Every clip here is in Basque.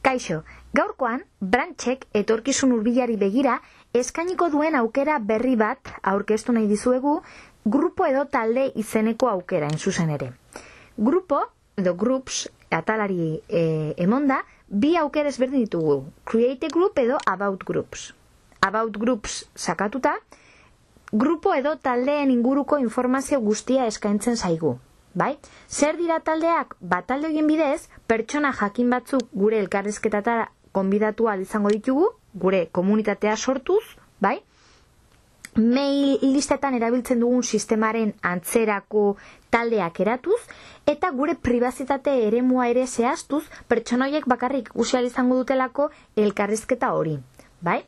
Kaixo, gaurkoan, Branchek etorkizun hurbilari begira eskainiko duen aukera berri bat aurkeztu nahi dizuegu, grupo edo talde izeneko aukera, zuzen ere. Grupo edo groups atalari emonda, bi aukera ezberdin ditugu, create a group edo about groups. About groups sakatuta, grupo edo taldeen inguruko informazio guztia eskaintzen zaigu. Bai? Zer dira taldeak? Talde horien bidez, pertsona jakin batzuk gure elkarrizketatara konbidatua izango ditugu, gure komunitatea sortuz, bai? Mail listetan erabiltzen dugun sistemaren antzerako taldeak eratuz, eta gure pribazitate eremua ere zehaztuz, pertsona horiek bakarrik ikusi ahal izango dutelako elkarrizketa hori. Bai?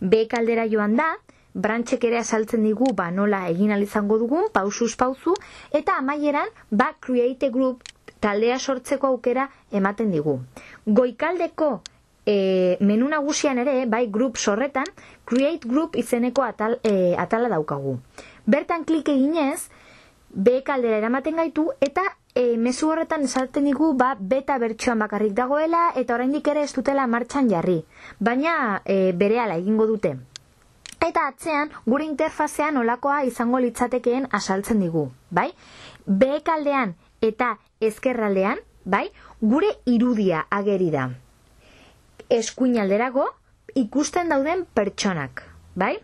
Bek aldera joan da, Branchek ere azaltzen digu nola egin ahal izango dugun, pausuz pauzu, eta amaieran create a group taldea sortzeko aukera ematen digu. Goikaldeko menu nagusian ere, groups horretan, create group izeneko atala daukagu. Bertan klik eginez, bek aldera eramaten gaitu, eta mezu horretan esaten digu beta bertsioan bakarrik dagoela, eta oraindik ere ez dutela martxan jarri. Baina berehala egingo dute. Eta atzean, gure interfazean olakoa izango litzatekeen azaltzen digu, bai? Behekaldean eta ezkerraldean, bai? Gure irudia ageri da. Eskuin alderago, ikusten dauden pertsonak, bai?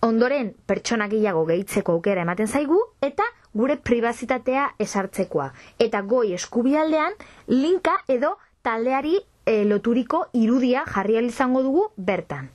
Ondoren, pertsonak gehiago gehitzeko aukera ematen zaigu, eta gure pribazitatea esartzekoa. Eta goi eskubialdean, linka edo taldeari loturiko irudia jarri ahal izango dugu bertan.